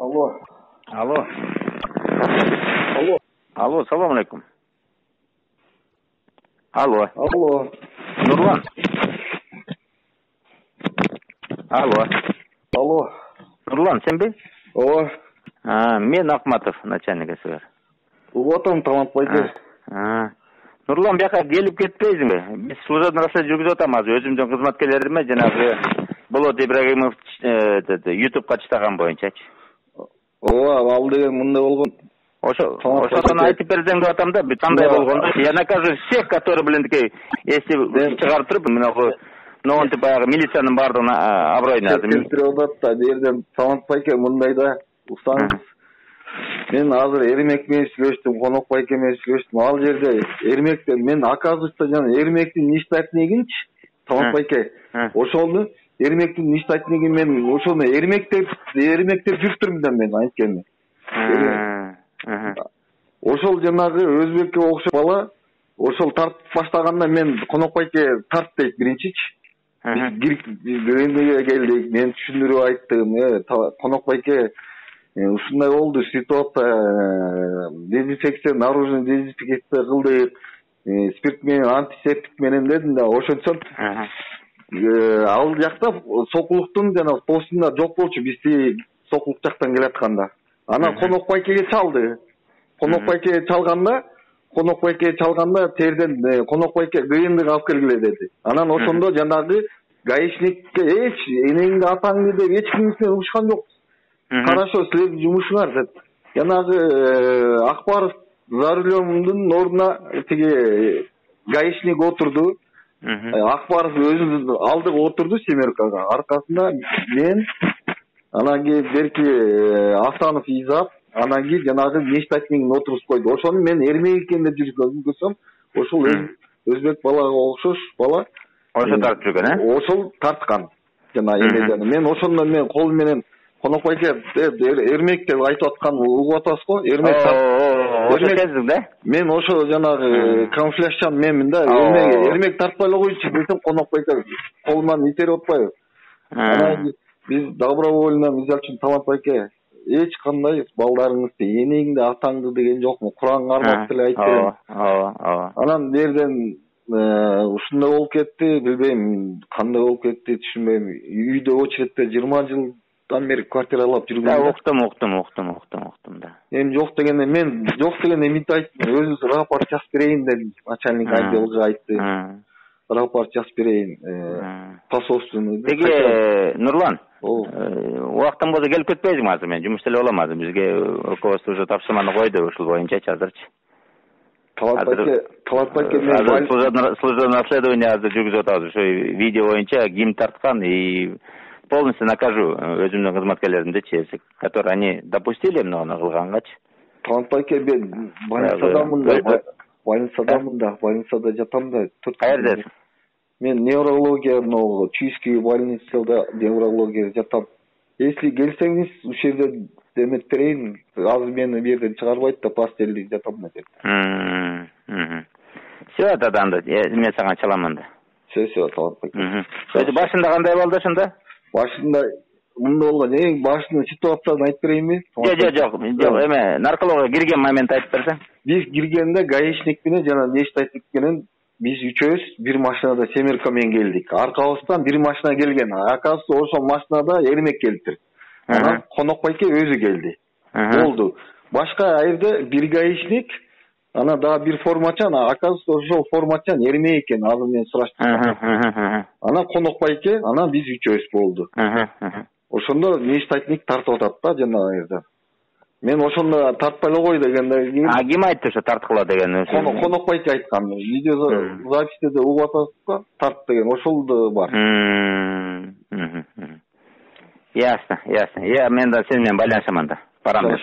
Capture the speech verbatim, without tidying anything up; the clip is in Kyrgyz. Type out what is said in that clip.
Алло. Алло. Алло. Алло, салам алейкум. Алло. Алло. Нурлан. Алло. Алло. Нурлан, сенби? Ооба. А, мен Акматов, начальник СВР. Угатам, Талант байке. А. Нурлан, бияка келип кетпейсиңби? Биз служебный расследование жүргүзүп атабыз. Өзүмдүн кызматкерлериме жанагы Болот Ибрагимов ютубка чыган боюнчачы. Ооба, ал деген мындай болгон. Ошо, ошону айтып берсең деп атам да, кандай болгондо. Я накажу всех, которые, блин, такие, если чыгарып туруп, мына ноонтип баягы милициянын баардыгын аброюна келтирип атат да, берден Талант байке мындай да, устаңыз. Мен азыр Эрмек менен сүйлөштүм, Конок байке менен сүйлөштүм. Ал жерде Эрмектен мен оказывается жана Эрмектин ништатнигинчи, Талант байке. Ошону Эрмектин ништатнигин мен ошону Эрмектеп, Эрмектеп жүртүрмүн да мен анткени. Ошол жанагы өзбекке окшоп бала, ошол тартып баштаганда мен Конок байке тарт дейт биринчичи. Биз биринеге келдик, мен түшүндүрүп айттым, э, Конок байке ушундай болду, ситуация, дезинфекция, наружный дезинфекция кылдык, спирт менен, антисептик менен дедим да, ошентсем ал жакта Сокулуктун жана постунда жок болчу, биз Сокулук жактан келатканда. Анан Конок байкеге чалды. Конок байкеге чалганда, Конок байкеге чалганда терден Конок байке кыйындык алып келгиле деди. Анан ошондо жанагы гаишникке эч энеңди атаңды деп эч кимдин урушкан жок. Хорошо, силердин жумушуңар деп. Жанагы Акбаров за рулемдун ордуна тиги гаишник отурду. Акбаров өзүнүн алдыга отурду семеркага. Аркасында мен, анан кийин берки Асанов Изап, анан кийин жанагы ништатнигин отургузуп койду. Ошону мен Эрмек экен деп жүргүзсөм, ошол өзбек балага окшош бала. Ошо тартып жүргөн, э? Ошол тарткан. Жана эмеден мен ошондо мен кол менен Конок байке Эрмек деп айтып аткан угуп атасыз го? Эрмек. Ошо сездиң да? Мен ошо жанагы камуфляжчан менмин да. Эрмек, Эрмек тартпай эле койчу десем, Конок байке колунан итерип атпайбы? Анан биз добровольно, мисалы үчүн Талант байке, эч кандай балдарыңызды, энеңди, атаңды деген жокму? Куранга кармап деле айтып берем. Ооба, ооба. Анан берден ушундай болуп кетти, билбейм, кандай болуп кетти, түшүнбөйм. Үйдө очередте жыйырма жылдан бери квартиралап жүргөн. Да, уктум, уктум, уктум, уктум, уктум да. Эми жок дегенде мен жок дегенде мынтип айттым, өзүңүз рапорт жазып берейин дедим. Начальник отделга айтты. Рапорт жазып берейин. Посольственный. Теги Нурлан, убактан болсо келип кетпейсиңби азыр? Мен жумуш деле болом азыр. Бизге руководство уже тапшырманы койду, ушул боюнчачы азырчы. Талант байке, Талант байке мен служебное расследование азыр жүргүзүп атабыз. Ошо видео боюнча ким тарткан и полностью накажу өзүмдүн кызматкерлеримдичи, которые они допустили муну кылгангачы. Талант байке, мен больницадамын да, больницадамын да, больницада жатам да. Каердесиң? Мен неврология, но Чуйский больницада неврология жатам. Если келсеңиз, ушул жерде демет берейин, азыр мени бу жерден чыгарбайт да, постелди жатам да деп. Все, тогда мен сага чаламын да. Все, все, Талант байке. Өзү башында кандай болду ошондо? Башында мындай болгон, эң башында ситуацияны айтып берейинби? Жок, жок, жок, эме, наркология кирген момент айтып берсең. Биз киргенде гаишник менен жана нештатник менен биз үчөөбүз бир машинада семерка менен келдик. Аркабыздан бир машина келген. Оказывается, ошол машинада Эрмек келиптир. Анан Конок байке өзү келди. Болду. Башка айрда бир гаишник, анан дагы бир формачан, оказывается, ошол формачан Эрмек экен. Азыр мен сураштым. Анан Конок байке, анан биз үчөөбүз болду. Ошондо нештатник тартып атат да жана айрда. Мен ошондо тартпай эле кой дегенде кийин. А ким айтты ошо тарткыла деген? Конок байке айткан. Видео записьте да угуп атасыз го, тарт деген ошол да бар. Ясно, ясно. Я мен да сени менен байланышаман да. Барам да.